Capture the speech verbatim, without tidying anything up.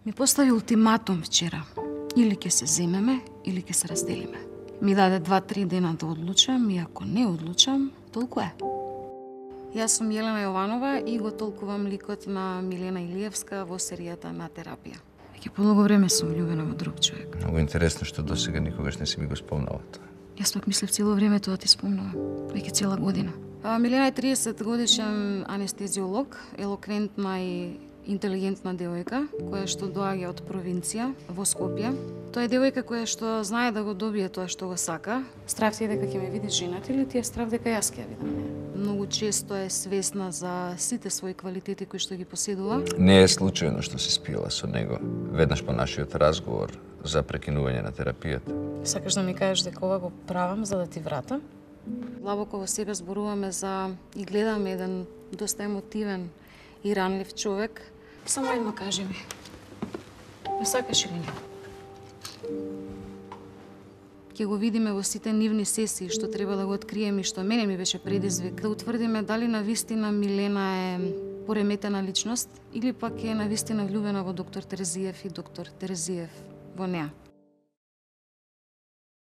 Ми постави ултиматум вчера. Или ќе се земеме, или ќе се разделиме. Ми даде два-три дена да одлучам и ако не одлучам, толку е. Јас сум Јелена Јованова и го толкувам ликот на Милена Илиевска во серијата На терапија. Веќе подолго време сум влюбена во друг човек. Многу интересно што досега никогаш не си ми го спомнала тоа. Јас пак мислев цело време тоа ти спомнувам. Веќе цела година. А, Милена е триесет годишен анестезиолог, елоквентна и интелигентна девојка, која што доаѓа од провинција во Скопје. Тоа е девојка која што знае да го добие тоа што го сака. Страв ти е дека ќе ме видиш женат или ти е страв дека јас ќе ја видам неа? Многу често е свесна за сите своји квалитети кои што ги поседува. Не е случајно што се спиела со него веднаш по нашиот разговор за прекинување на терапијата. Сакаш да ми кажеш дека ова го правам за да ти вратам? Длабоко во себе зборуваме за и гледаме еден доста емотивен и ранлив човек. Само едно кажи ми. Не сакаш или не? Ќе го видиме во сите нивни сесии што треба да го откриеме и што мене ми беше предизвик да утврдиме дали навистина Милена е пореметена личност или пак е навистина влюбена во доктор Терезиев и доктор Терезиев во неа.